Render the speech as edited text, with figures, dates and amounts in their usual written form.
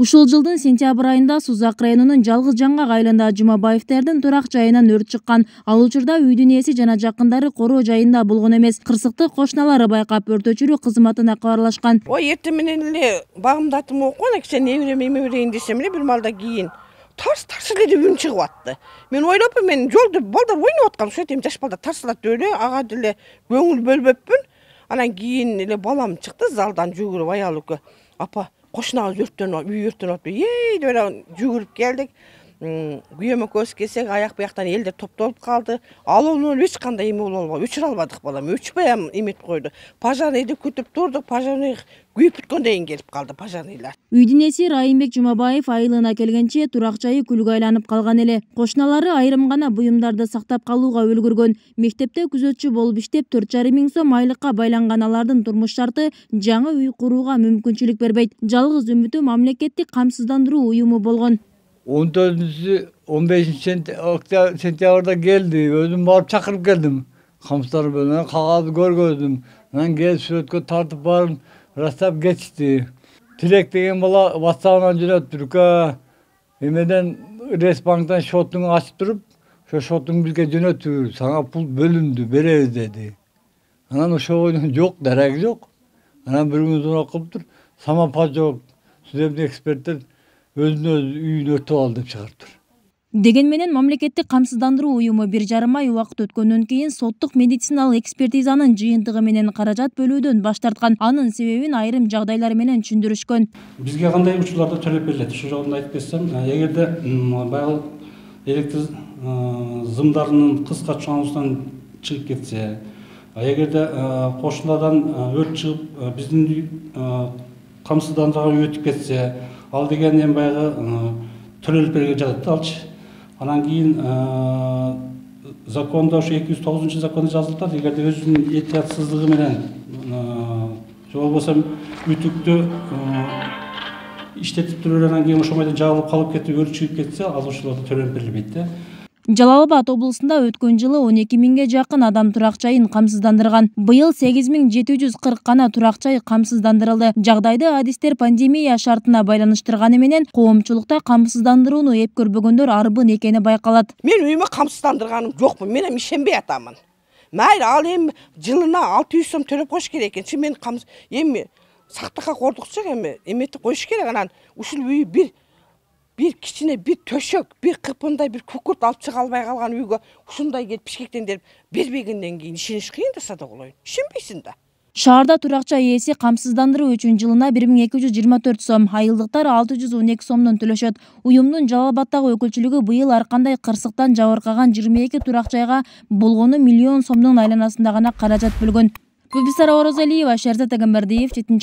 Ушул жылдын сентябрь айында Сузак районунун Жалгыз Жаңгак айылында Жумабаевтердин турак жайынан өрт чыккан. Ал учурда үйдүн ээси жана жакындары короо жайында болгон эмес. Кырсыкты кошуналары байкап өрт өчүрүү кызматына кабарлашкан. Ой, эртең менен эле багымдатым окуган, кичине неберем эмеберейин десем эле бир малда кийин тарс эле деп үн чыгып атты. Мен ойлоппун, мен жолдо балдар ойноп аткан, ошо эми жаш балдар тарсалат деп эле ага деле көңүл бөлбөппүн. Анан кийин эле балам чыкты залдан жүгүрүп, аялы экөө. Апа, кошунабыз үй өрттөнүп атпы. Деп эле жүгүрүп келдик. Күйөөм экөөбүз келсек, аяк бияктан элдер топтолуп калды. Алоонун эч кандай эме боло албады. Өчүрө албадык балам. Өчпөй эметип койду. Пожарныйды күтүп турдук. Пожарный күйүп бүткөндөн келип калды пожарныйлар. Үйдүн ээси Райымбек Жумабаев айылына келгенче турак жайы күлгө айланып калган эле. Кошуналары айрым гана буюмдарды сактап калууга үлгүргөн. Мектепте күзөтчү болуп иштеп 4,5 миң сом айлыкка байланган алардын турмуш шарты жаңы үй курууга мүмкүнчүлүк бербейт. Жалгыз үмүтү мамлекеттик камсыздандыруу уюму болгон. 14-15 сентябрда келди. Өзүм барып чакырып келдим. Камсыздар менен кагазды көргөздүм. Анан келип сүрөткө тартып барып растап кетишти. Тилек деген бала WhatsApp'ынан жөнөттүркө. Эмеден Ресбанктан шотуңду ачып туруп, ошо шотуңду бизге жөнөттүр, сага пул бөлүндү, беребиз деди. Анан ошого жок, дараги жок. Анан бир күн сурап кылыптыр, самопа жок, судебный эксперттер өзүнө үйүн өртөп алды деп чыгарыптыр. Деген менен мамлекеттик камсыздандыруу уюму 1,5 ай убакыт өткөндөн кийин соттук медициналык экспертизанын жыйынтыгы менен каражат бөлүүдөн баш тарткан. Анын себебин айрым жагдайлар менен түшүндүрүшкөн. Бизге кандай учурларда төлөп берилет? Ушул жагын айтып кетсем, эгерде баягы электр зымдарынын кыска чоңусунан чыгып кетсе, эгерде кошунадан өрт чыгып биздин камсыздандырууга өтүп кетсе, ал деген эми баягы төлөлүп берген жатат да алчы. Анан кийин закондо ошо 209-закондо жазылып атат, эгерде өзүнүн этиятсыздыгы менен же болбосо үтүктү иштетип туруп анан кийин ошол бойдон жабылып калып кетип өрт чыгып кетсе, ал ошолордо төлөп берилбейт да. Жалал Абад облусунда өткөн жылы 12 миңге жакын адам турак жайын камсыздандырган. Быйыл 8740 гана турак жай камсыздандырылды. Жагдайды адистер пандемия шартына байланыштырганы менен коомчулукта камсыздандырууну эп көрбөгөндөр арбын экени байкалат. Мен үйүмө камсыздандырганым жокмун. Мен эми ишенбей атамын. Майра, ал эми жылына 600 сом төлөп коюш керек экен. Мен эми сактыкка кордукчу эми эметип коюш керек. Анан ушул үй bir кичине bir төшөк, bir кыпындай bir күкүрт алып чыга албай калган үйгө ушундай келип пишкектендирип бербегенден кийин ишениш кыйын да садагылойн. Ишенбейсиң да. Шаарда турак жай ээси камсыздандыруу үчүн жылына 1224 сом, айылдыктар 612 сомдон төлөшөт. Уюмдун Жалал Абаддагы өкүлчүлүгү быйыл ар кандай кырсыктан жабыркаган 22 турак жайга болгону миллион сомдун айланасында гана каражат бөлгөн. Гүлбисара Орозалиева, Шерзат Агамбердиев, 7